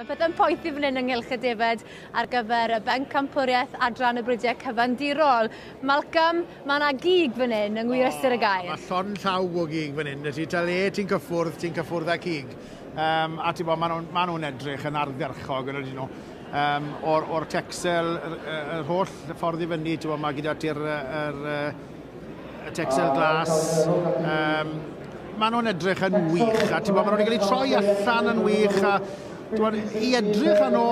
Mae pethau'n poethi fan hyn ynghylch y defaid ar gyfer y bencampwriaeth adran y bridiau cyfandirol. Malcolm, mae yna gig fan hyn yng ngwir ystyr y gair. Mae llond llaw o gig fan hyn. Ti ta le ti'n cyffwrdd, ti'n cyffwrdd â cig. A ti'n bod, maen nhw'n ma nhw edrych yn ardderchog yn ydyn nhw. O'r Texel, yr holl ffordd i fyny, ti'n bod, mae gyda ti'r y Texel glas. Maen nhw'n edrych yn wych, a ti'n bod, maen nhw'n cael eu troi allan yn wych, a ti'n bod, i edrych arno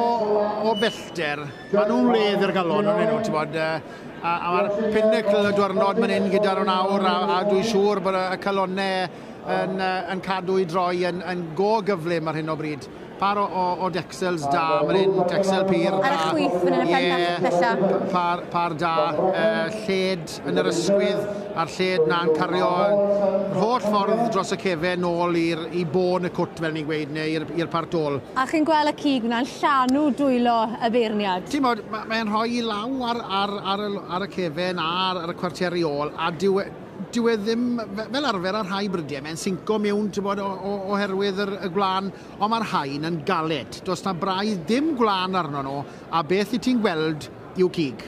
o bellter, maen nhw'n wledd i'r galon yn nhw, ti'n bod, a mae'r pinnacle y diwrnod man hyn gyda nhw nawr, a dwi'n siŵr bod y calonnau yn cadw i droi yn go gyflym ar hyn o bryd. Par o Dexels da, man hyn, Texel pur da. Ar y chwith fan hyn y pen pella. Par da, lled yn yr ysgwydd, a'r lled na'n cario yr holl ffordd dros y cefen nôl i bôn y cwt, fel ni'n gweud, neu i'r part ôl. A chi'n gweld y cig na'n llanw dwylo y beirniad? Ti'n bod, mae'n rhoi i law ar y cefen a ar y cwarteri ôl, a dyw e ddim, fel arfer ar rhai brydiau, mae'n sinco mewn, ti'n bod, oherwydd y gwlân, ond mae'r haen yn galed. Does na braidd dim gwlân arno nhw, a beth i ti'n gweld yw cig.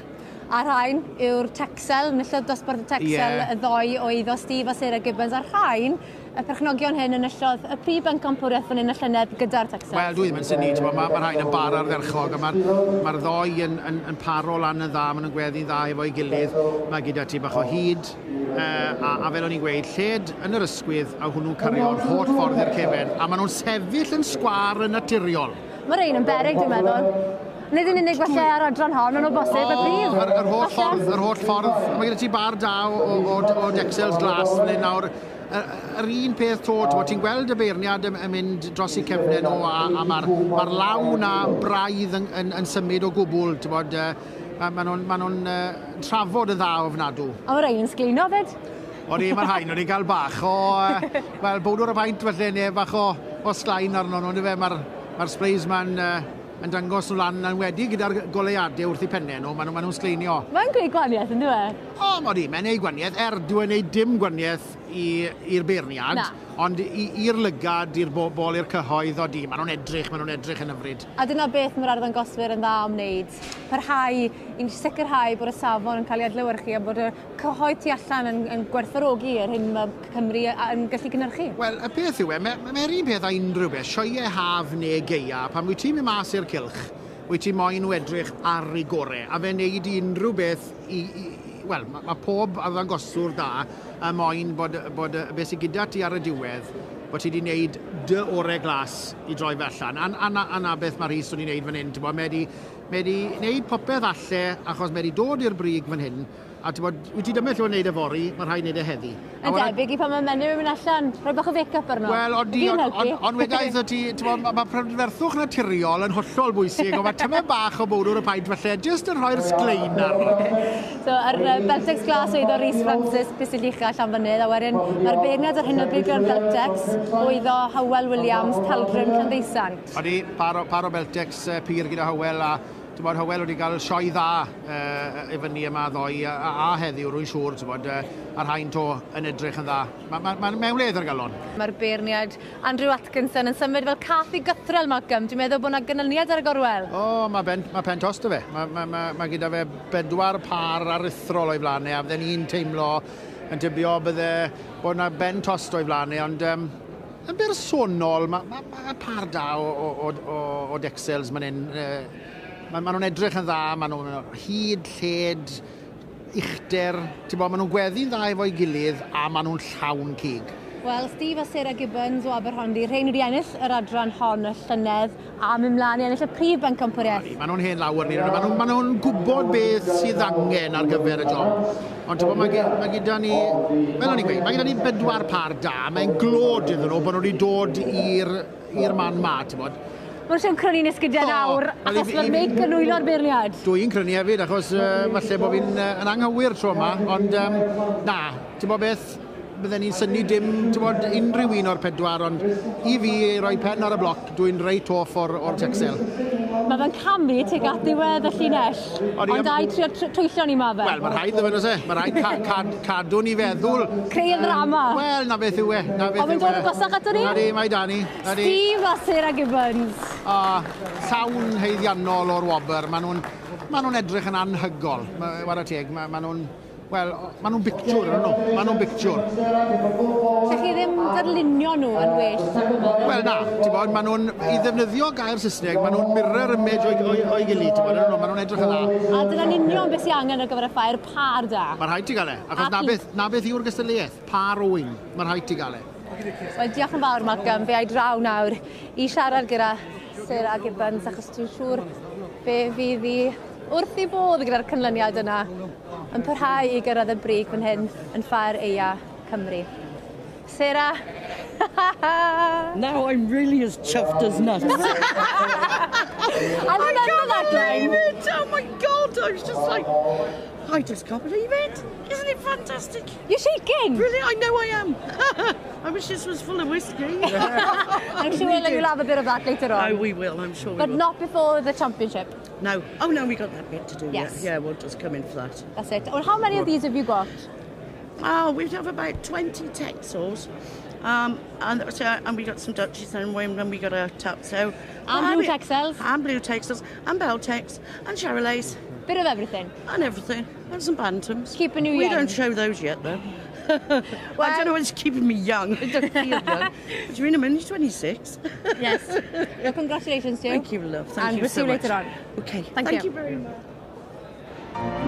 A'r rhain yw'r Texel, enillodd dosbarth y Texel y ddoi o eiddo Steve a Sarah Gibbons. A'r rhain, y perchnogion hyn enillodd y prif bencampwriaeth fan hyn y llynedd gyda'r Texel. Wel, dwi ddim yn synnu, mae'r rhain yn bar ardderchog, a mae'r ddoi yn paro lan yn dda, maen nhw'n gweddi'n dda efo'i gilydd, mae gyda ti bach o hyd, a fel o'n i'n gweud, lled yn yr ysgwydd, a hwnnw'n cario'r holl ffordd i'r cefen, a maen nhw'n sefyll yn sgwâr yn naturiol. Mae rhain yn beryg, dwi'n meddwl. Nid yn unig falle ar adran hon, ond o bosib y prif. Yr holl ffordd, yr holl ffordd. Mae gyda ti bar da o Dexels glas fan hyn nawr. Yr un peth to, ti'n gweld y beirniad yn mynd dros eu cefnau nhw, a mae'r law na braidd yn symud o gwbl, ti'n bod, maen nhw'n trafod yn dda ofnadw. A mae rhain yn sglino fyd? Odi, mae'r rhain wedi cael bach o, wel, bowdwr y paent felly, neu bach o sglain arno nhw, yndyfe, mae'r sprays ma'n yn dangos nhw lan yn wedi gyda'r goleuadau wrth eu pennau nhw, maen nhw'n sgleinio. Mae'n gwneud gwahaniaeth, yn dyw e? O, odi, mae'n gwneud gwahaniaeth, dyw e'n gwneud dim gwahaniaeth i'r beirniad, ond i'r lygad, i'r bobl, i'r cyhoedd, odi, maen nhw'n edrych yn hyfryd. A dyna beth mae'r arddangoswyr yn dda am wneud, parhau i sicrhau bod y safon yn cael ei adlewyrchu a bod y cyhoedd tu allan yn gwerthfawrogi yr hyn mae Cymru yn gallu gynhyrchu. Wel, y peth yw e, mae'r un peth â unrhyw beth, sioeau haf neu gaea, pan wyt ti'n mynd mas i'r cylch, wyt ti moyn nhw edrych ar ei gorau, a fe'n neud unrhyw beth wel, mae pob arddangoswr da y moyn bod beth sydd gyda ti ar y diwedd, bod ti wedi wneud dy orau glas i droi fe allan. A na beth mae Rhys wedi wneud fan hyn, ti'n bod, mae wedi wneud popeth alle, achos mae wedi dod i'r brig fan hyn, a ti'n bod, wyt ti dymell o'n wneud efory, mae rhaid wneud e heddi. Yn debyg i pan mae menyw yn mynd allan, rhoi bach o make-up arno. Wel, ond wedaeth o ti, ti'n bod, mae prydferthwch naturiol yn hollol bwysig, ond mae tymed bach o bowdwr y paent falle, jyst yn rhoi'r sglein arno. So, ar Beltex glas oedd o Rhys Francis, Pistyll Ucha, Llanfynydd, a wedyn mae'r beirniad ar hyn o bryd gyda'r Beltex oedd o Hywel Williams, Taldrym, Llanddeusant. Odi, par o Beltex pur gyda Hywel, a ti'n bod, Hywel wedi cael sioe dda i fyny yma ddoe a heddiw, rwy'n siŵr, ti'n bod, a'r haen to yn edrych yn dda. Mae'n mewn wledd ar galon. Mae'r beirniad Andrew Atkinson yn symud fel cath i gythrel, Malcolm. Dwi'n meddwl bod yna ganlyniad ar y gorwel. O, mae pen tost o fe. Mae gyda fe 4 par aruthrol o'i flaen e, a fydden ni'n teimlo yn tybio bydde bod yna ben tost o'i flaen e, ond yn bersonol, mae par da o Dexels man hyn. Maen nhw'n edrych yn dda, maen nhw'n hyd, lled, uchder, ti'n bod, maen nhw'n gweddi'n dda efo'i gilydd a maen nhw'n llawn cig. Wel, Steve a Sarah Gibbons o Aberhonddu, rhain wedi ennill yr adran hon y llynedd a mynd mlaen i ennill y prif bencampwriaeth. Maen nhw'n hen lawer ni, maen nhw'n gwybod beth sydd angen ar gyfer y job. Ond ti'n bod, mae gyda ni, fel o'n i'n gweud, mae gyda ni 4 par da, mae'n glod iddyn nhw bod nhw wedi dod i'r man ma, ti'n bod. Mae'n siŵr crynu'n esgidiau nawr, achos mae'r meic yn nwylo'r beirniad. Dwi'n crynu hefyd, achos falle bod fi'n yn anghywir tro yma, ond na, ti'n bod beth, bydden ni'n synnu dim, ti'n bod, unrhyw un o'r pedwar, ond i fi roi pen ar y bloc, dwi'n reit hoff o'r Texel. Mae fe'n camu tuag at ddiwedd y llinell, ond da i trio twyllo ni ma fe. Wel, mae rhaid fe, e? Mae rhaid cadw ni feddwl. Creu y ddrama. Wel, na beth yw e. Ond mae'n dod yn gosach ato ni? Na di, mae da ni. Steve a Sarah Gibbons. A llawn haeddiannol o'r wobr. Maen nhw'n edrych yn anhygol. Wara teg, maen nhw'n... Wel, maen nhw'n bictiwr, yn nhw. Maen nhw'n bictiwr. Lle chi ddim darlunio nhw yn well? Wel, na. Ti'n bod, maen nhw'n, i ddefnyddio gair Saesneg, maen nhw'n mirror image o'i gilydd, ti'n bod, maen nhw'n edrych yn dda. A dyna'n union beth sy'n angen ar gyfer y ffair, par da. Mae'n rhaid ti gael e. Achos na beth yw'r gystadleuaeth, par o wyn. Mae'n rhaid ti gael e. Wel, diolch yn fawr, Malcolm. Fe ai draw nawr i siarad gyda Sarah Gibbons, achos dwi'n siŵr fe fydd hi wrth ei bodd gyda'r canlyniad yna yn parhau i gyrraedd y brig fan hyn yn Ffair Aeaf Cymru. Sarah! Now I'm really as chuffed as nuts. I remember that line. It. Oh my God, I was just like, I just can't believe it. Isn't it fantastic? You're shaking. Really, I know I am. I wish this was full of whiskey. I'm sure we'll have a bit of that later on. Oh, we will, I'm sure we But will. not before the championship. No. Oh, no, we got that bit to do. Yes. Yeah, we'll just come in for that. That's it. Well, how many of these have you got? Oh, we have about 20 Texels. And we got some Dutchies and we got a tap. So, and blue Texels. And blue Texels, and Beltex, and Charolais. Bit of everything. And everything. And some Bantams. Keeping you young. We don't show those yet, though. Well, I don't know what's keeping me young. I don't feel young. But you mean I'm only 26? Yes. Well, congratulations to you. Thank you, love. Thank and you we'll so see you much. later on. Okay. Thank you very much.